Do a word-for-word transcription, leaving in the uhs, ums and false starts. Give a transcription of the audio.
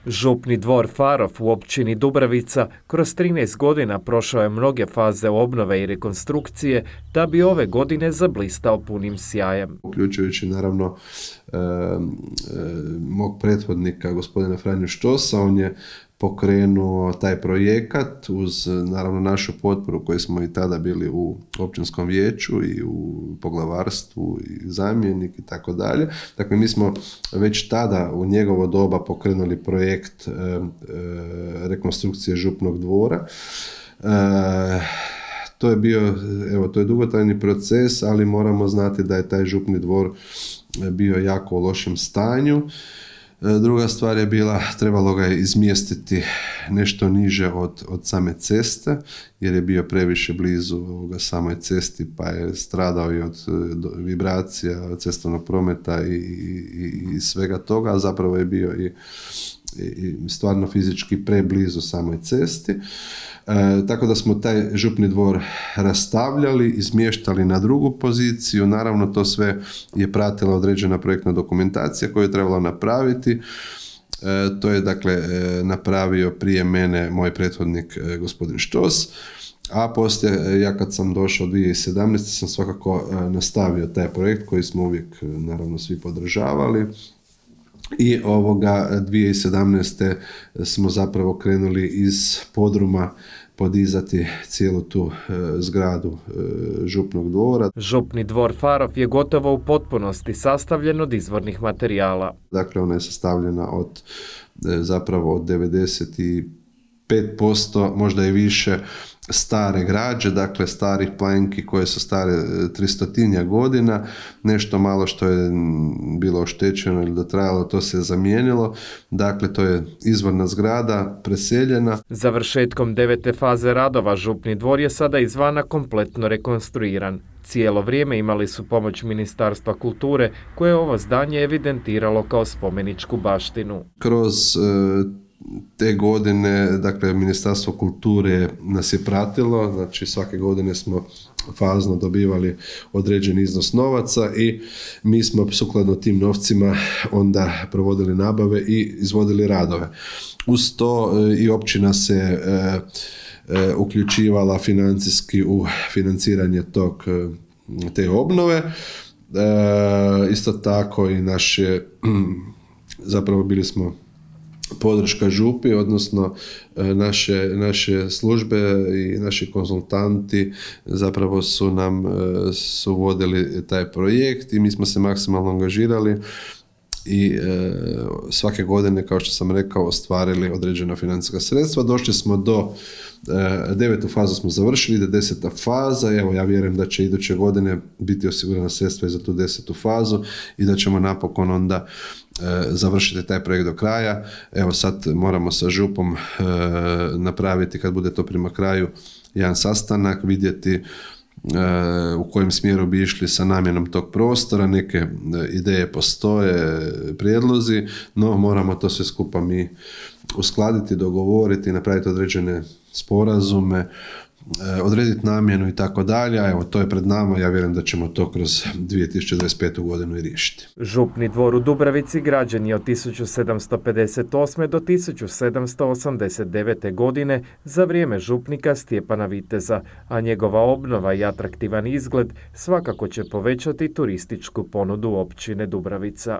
Župni dvor Farov u općini Dubravica kroz trinaest godina prošao je mnoge faze obnove i rekonstrukcije da bi ove godine zablistao punim sjajem. Uključujući naravno e, e, mog prethodnika gospodina Franju Štosa, on je pokrenuo taj projekat uz naravno našu potporu koji smo i tada bili u općinskom vijeću i u poglavarstvu i zamjenik i tako dalje. Dakle, mi smo već tada u njegovo doba pokrenuli projekt e, e, rekonstrukcije župnog dvora. E, to je bio, evo, to je dugotrajni proces, ali moramo znati da je taj župni dvor bio jako u lošem stanju. Druga stvar je bila, trebalo ga je izmjestiti nešto niže od, od same ceste, jer je bio previše blizu ovoga samoj cesti, pa je stradao i od vibracija cestovnog prometa i, i, i svega toga, a zapravo je bio i, i stvarno fizički preblizu samoj cesti. E, tako da smo taj župni dvor rastavljali, izmještali na drugu poziciju. Naravno, to sve je pratila određena projektna dokumentacija koju je trebalo napraviti. E, to je dakle e, napravio prije mene moj prethodnik e, gospodin Štos, a poslije, ja kad sam došao dvije tisuće sedamnaeste. sam svakako e, nastavio taj projekt koji smo uvijek naravno svi podržavali. I ovoga dvije tisuće sedamnaeste. smo zapravo krenuli iz podruma podizati cijelu tu e, zgradu e, župnog dvora. Župni dvor Farov je gotovo u potpunosti sastavljen od izvornih materijala. Dakle, ona je sastavljena od e, zapravo od devedeset pet posto, možda i više, stare građe, dakle starih planki koje su stare tristotinja godina, nešto malo što je bilo oštećeno ili dotrajalo, to se je zamijenilo. Dakle, to je izvorna zgrada, preseljena. Završetkom devete faze radova župni dvor je sada izvana kompletno rekonstruiran. Cijelo vrijeme imali su pomoć Ministarstva kulture koje je ovo zdanje evidentiralo kao spomeničku baštinu. Kroz e, te godine, dakle, Ministarstvo kulture nas je pratilo, znači svake godine smo fazno dobivali određeni iznos novaca i mi smo sukladno tim novcima onda provodili nabave i izvodili radove. Uz to i općina se e, e, uključivala financijski u financiranje tog, te obnove. E, isto tako i naše, zapravo bili smo podrška župi, odnosno naše, naše službe i naši konzultanti zapravo su nam su vodili taj projekt i mi smo se maksimalno angažirali i e, svake godine, kao što sam rekao, ostvarili određena financijska sredstva. Došli smo do e, devetu fazu smo završili, ide deseta faza. Evo, ja vjerujem da će iduće godine biti osigurana sredstva i za tu desetu fazu i da ćemo napokon onda e, završiti taj projekt do kraja. Evo, sad moramo sa župom e, napraviti, kad bude to prema kraju, jedan sastanak, vidjeti u kojem smjeru bi išli sa namjenom tog prostora. Neke ideje postoje, prijedlozi, no moramo to sve skupa mi uskladiti, dogovoriti, napraviti određene sporazume, odrediti namjenu i tako dalje. Evo, to je pred nama, ja vjerujem da ćemo to kroz dvije tisuće dvadeset petu. godinu i riješiti. Župni dvor u Dubravici građen je od tisuću sedamsto pedeset osme. do tisuću sedamsto osamdeset devete. godine za vrijeme župnika Stjepana Viteza, a njegova obnova i atraktivan izgled svakako će povećati turističku ponudu općine Dubravica.